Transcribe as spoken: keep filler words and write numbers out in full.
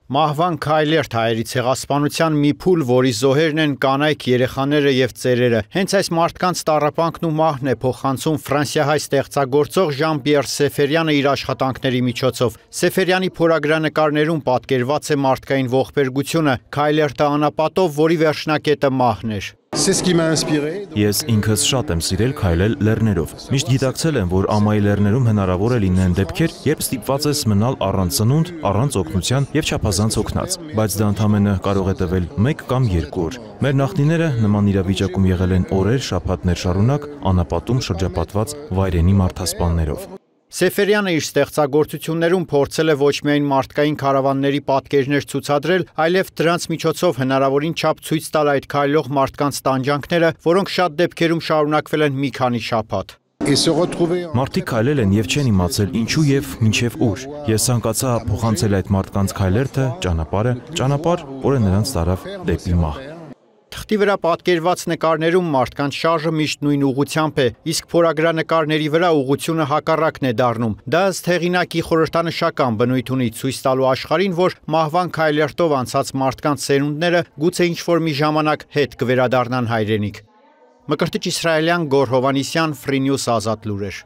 Մահվան քայլերթ հայերի ցեղասպանության մի փուլ, որի զոհերն են կանայք, երեխաները եւ ծերերը։ Հենց այս մարդկանց տառապանքն ու մահն է փոխանցում ֆրանսիահայ ստեղծագործող Ժան-Պիեր Սեֆերյանը իր աշխատանքների միջոցով։ Սեֆերյանի փորագրանկարներում պատկերված է մարդկային ողբերգությունը, քայլերթը անապատով, որի վերջնակետը մահն էր։ Ես ինքս շատ եմ սիրել քայլել լեռներով։ Միշտ գիտակցել եմ, որ ամայի լեռներում հնարավոր է լինեն դեպքեր, երբ ստիպված ես մնալ առանց ծնունդ, առանց օգնության եւ չափազանց հոգնած, բայց դա ընդամենը կարող է տվել մեկ կամ երկու օր։ Մեր նախնիները նման իրավիճակում եղել են օրեր, շաբաթներ շարունակ անապատում շրջապատված վայրենի մարդասպաններով։ Սեֆերյանը իր ստեղծագործություններում փորձել է ոչ միայն մարդկային քարավանների պատկերներ ցուցադրել, այլև դրանց միջոցով հնարավորին չափ ցույց տալ այդ քայլող մարդկանց տանջանքները, որոնք շատ դեպքերում շարունակվել են մի քանի շաբաթ։ Մարդիկ քայլել են եւ չեն իմացել ինչու եւ մինչեւ ուր։ Ես ցանկացա փոխանցել այդ մարդկանց քայլերթը, ճանապարհը, ճանապարհ, որը նրանց տարավ դեպի մահ։ Թղթի վրա պատկերված նկարներում մարդկանց շարժը միշտ նույն ուղղությամբ է, իսկ փորագրանկարների վրա ուղղությունը հակառակն է դառնում։ Դա ըստ հեղինակի խորհրդանշական բնույթ ունի, ցույց տալու աշխարհին, որ մահվան քայլերթով անցած մարդկանց սերունդները գուցե ինչ-որ մի ժամանակ հետ կվերադառնան հայրենիք։ Մկրտիչ իսրայելյան Գոր Հովհաննիսյան, Free News Ազատ լուրեր։